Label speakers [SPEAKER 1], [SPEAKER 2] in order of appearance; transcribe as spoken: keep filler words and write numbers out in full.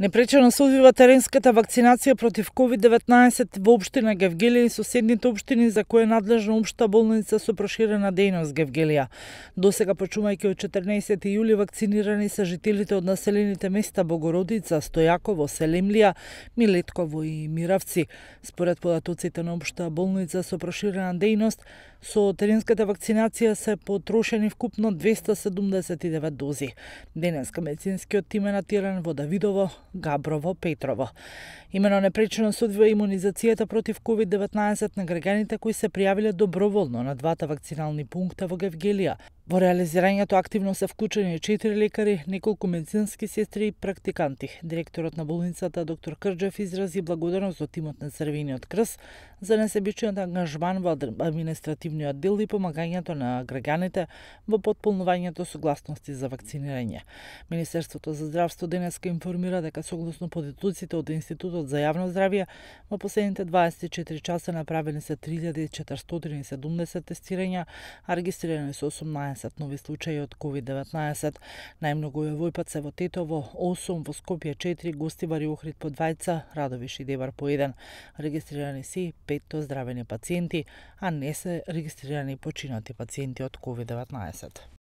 [SPEAKER 1] Непречено се одвива теренската вакцинација против ковид деветнаесет во општина Гевгелија и соседните општини за кои е надлежна општа болница со проширена дејност Гевгелија. Досега, почнувајќи од четрнаесети јули, вакцинирани се жителите од населените места Богородица, Стојаково, Селемлија, Милетково и Миравци. Според податоците на општа болница со проширена дејност, со теренската вакцинација се потрошени вкупно двесте седумдесет и девет дози. Денеска медицинскиот тим е натиран во Давидово, Габрово, Петрово. Имено непречено се одвива имунизацијата против ковид деветнаесет на граѓаните кои се пријавиле доброволно на двата вакцинални пункта во Гевгелија. Во реализирањето активно се вклучени четири лекари, неколку медицински сестри и практиканти. Директорот на болницата доктор Крџев изрази благодарност до тимот на Црвениот крст за несебичниот ангажман во административниот дел и помагањето на граѓаните во потполнувањето согласности за вакцинирање. Министерството за здравство денеска информира дека согласно податоците од Институтот за јавно здравје во последните дваесет и четири часа направени се три илјади четиристотини и седумдесет тестирања, а регистрирани се осумнаесет нови случаи од ковид деветнаесет. Најмногу е војпат се во Тетово, осум, во Скопје четири, Гостивар и Охрид по двајца, Радовиш и Девар по еден. Регистрирани се пет оздравени пациенти, а не се регистрирани починати пациенти од ковид деветнаесет.